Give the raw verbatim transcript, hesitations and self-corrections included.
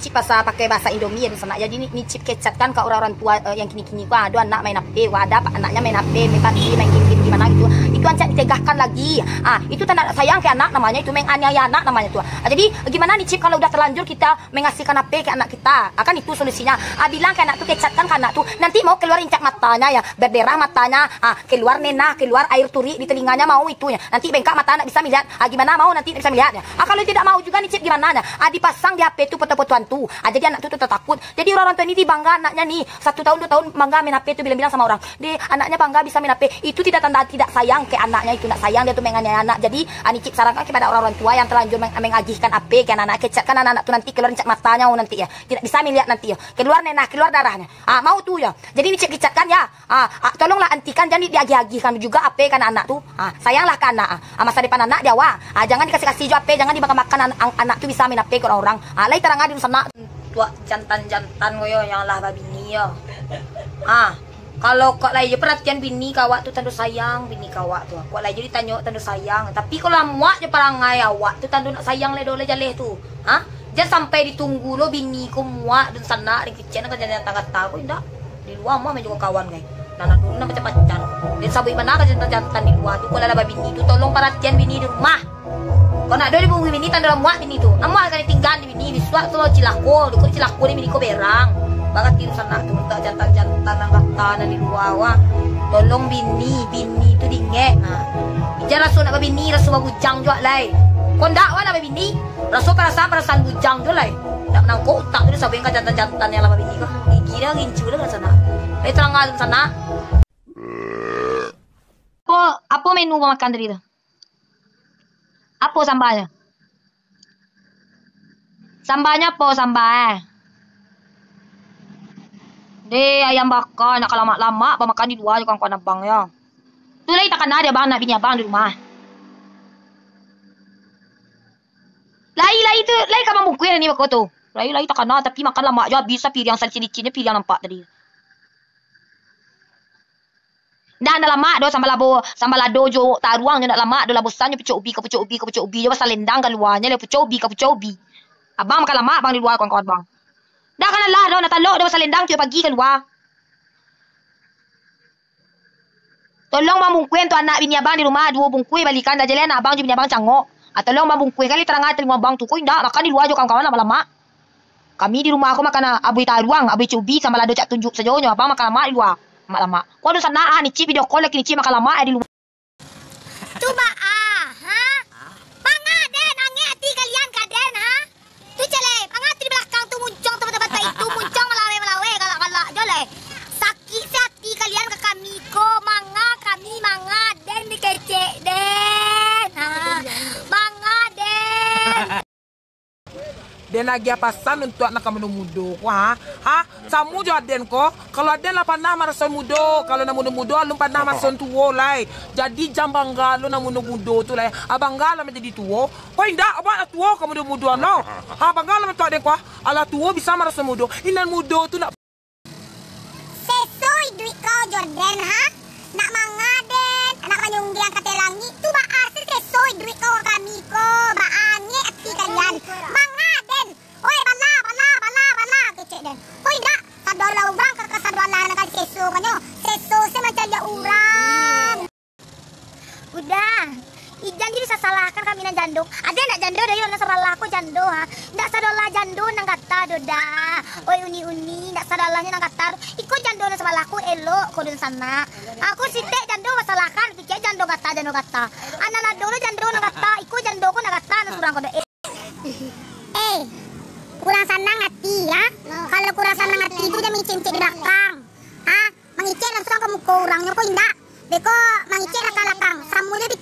Cip pasal pakai bahasa Indomie ya, Dunsanak. Jadi ni, ni Cip kecatkan ka urang-urang tua, eh, yang kini-kini ko, ah, ado anak main H P, wah, ado anaknyo main H P, main PUBG, main game-game gimana gitu. Itu Ancak ditegahkan lagi. Ah, itu tanda sayang ke anak namanya itu, menganiaya anak namanya tu. Ah, jadi gimana ni Cip kalau udah terlanjur kita mengasihkan H P ke anak kita? Ah, kan itu solusinya. Ah, bilang ke anak tu, kecatkan ke anak tu, nanti mau keluar incak matanya ya, berderah matanya, ah, keluar nenah, keluar air turik di telinganya, mau itu ya. Nanti bengkak mata, ndak bisa melihat. Ah, gimana mau nanti ndak bisa melihat ya? Ah, kalau tidak mau juga ni Cip gimana ya? Ah, dipasang di H P tu foto-foto hantu. Ah, jadi anak tu, tu tatakut. Jadi urang-urang tua ni dibangga anaknya ni. Satu tahun, dua tahun bangga main H P tu, bilang-bilang sama orang. Deh, anaknya bangga bisa main H P. Itu tidak tanda tidak sayang ke anaknya itu. Ndak sayang dia tu menganiaya anak. Jadi, ah, ni Cip sarankan kepada orang-orang tua yang terlanjur meng-, mengagihkan H P ke anak-anak. Kecatkan anak-anak tu nanti keluar incak matanya nanti ya. Tidak bisa melihat nanti ya. Keluar nenah, keluar darahnya. Ah, mau tu ya. Jadi ni Cip kecatkan ya. Ah, ah, tolonglah hentikan, jangan di-, diagih-agihkan juga H P ka anak-anak tu. Ah, sayanglah ka anak. Ah, ah, masa depan anak di awak. Ah, jangan dikasih-kasih jo H P, jangan dimakan-makan an-, an-, anak tu bisa main H P ka urang-urang. Ah, lai tarang di Dunsanak. Tuak jantan-jantan ko yo, yang lah babini yo. Ah, kalau kok lai jo perhatian bini ka awak tu tando sayang, bini ka awak tu. Kok lai jo ditanyo tando sayang. Tapi kalau lah muak jo parangai awak tu tando nak sayang lai doh lai jaleh tu. Ha? Jan sampai ditunggu lo bini ko muak Dunsanak, ringkicek nan ka jantan gata ko, indak. Di lua mah main jo kawan gai. Nan ado nan pacar-pacar. Den sabuik bana ka jantan-jantan di lua tu, kalau lah babini tu, tolong paratian bini di rumah. Kok nak do dibungui bini, tando lah muak bini tu. Amuah ka ditinggaan di bini, bisuak tu cilako, di ko cilako di bini ko berang. Barati Dunsanak tu, untuak jantan-jantan nan gata nan di lua, wah. Tolong bini, bini tu diingek. Ha. Jan raso nak babini, raso babujang juo lai. Kok ndak wah nak babini, raso parasaan-parasaan bujang tu lai. Ndak manangkok utak tu, sabuik ka jantan-jantan yang lah babini ko. Gigi dah rincu dah Dunsanak. Lai tarang Dunsanak. Apo, apo menu makan tadi tu? Apo sambanyo? Sambanyo apo samba, eh? Deh, ayam baka, nak ka lamak-lamak, bamakan di lua jo kawan-kawan abang yo. Tu lai takana dek abang, anak bini abang di rumah. Lai, lai tu, lai ka mambungkuih ni bako tu. Lai, lai takana, tapi makan lamak jo, abih sapiriang salicin-licinyo piriang nampak tadi. Ndak, ndak lamak doh, samba labo, samba lado jo taruang nyo ndak lamak doh, lah bosan nyo pucuak ubi ka pucuak ubi ka pucuak ubi jo, basalendang kaluanyo lah pucuak ubi ka pucuak ubi. Abang makan lamak, abang di lua kawan-kawan abang. Ndak kan lah doh, ndak talok doh, basalendang tiok pagi kalua. Tolong bang bungkuih untuak anak bini abang di rumah, duo bungkuih balikan sajo lai, anak abang jo bini abang cangok. Ah, tolong bang bungkuih, kan lai tarang talingo abang tu, ko indak, makan di lua jo kawan-kawan lamak-lamak. Kami di rumah ko makan, ah, abuih taruang, abuih cubi, samba lado cak tunjuk sajo nyo, abang makan lamak di lua, lamak-lamak. Ko Dunsanak, ah, ni Cip video call lagi, ni Cip makan lamak, eh, di lua. Tu baa, ha? Manga den, angek ati kalian ka den, ha? Tu cale, manga tu di balakang tu muncuang tu batua-batua itu, muncuang malawe-malawe, galak-galak jo lai. Sakik se ati kalian ka kami ko, manga kami, manga den dikecek den. Ha, manga den. Den agiah pasan untuak nan ka mudo-mudo ko, ha? Ha? Samo jo aden ko, kalau aden lah panah maraso mudo, kalau nan mudo-mudo alun panah maraso tuo lai. Jadi jan bangga lo nan mudo-mudo tu lai. Ah, bangga lah manjadi tuo. Ko indak, awak lah tuo ka mudo-mudo lo. Ha, bangga lah untuak aden ko, ha? Alah tuo bisa maraso mudo. Inan mudo tu nak Seso iduik kau jo den, ha? Nak manga den, nak manyunggiang ka ateh langik, tu baa se seso iduik kau ka kami ko, baa angek ati kalian. Manga den. Oi, bala, bala, bala, bala, kecek den. Oi, dak, sadolah urang ka, ka sadolah nan ka diseso kanyo. Seso se mancaliak urang. Uda, ijan jadi sasalahkan kami nan jando. Ado ndak jando dari nan sabalah ko jando, ha? Ndak sadolah jando nan gata do, Da. Oi, uni-uni, ndak sadolahnyo nan gata do. Iko jando nan sabalah ko elok ko Dunsanak. Aku sitek jando basalahkan, kecek jando gata, jando gata. Anan ado lo jando nan gata, iko jando ko nan gata, nan surang ko do. Eh, kurang sanang ati, ha? Kalau kurang sanang ati tu jan mangicek-ngicek di balakang. Ha? Mangicek langsuang ka muko urang nyo ko indak. Beko mangicek lakang-lakang. Samo jo di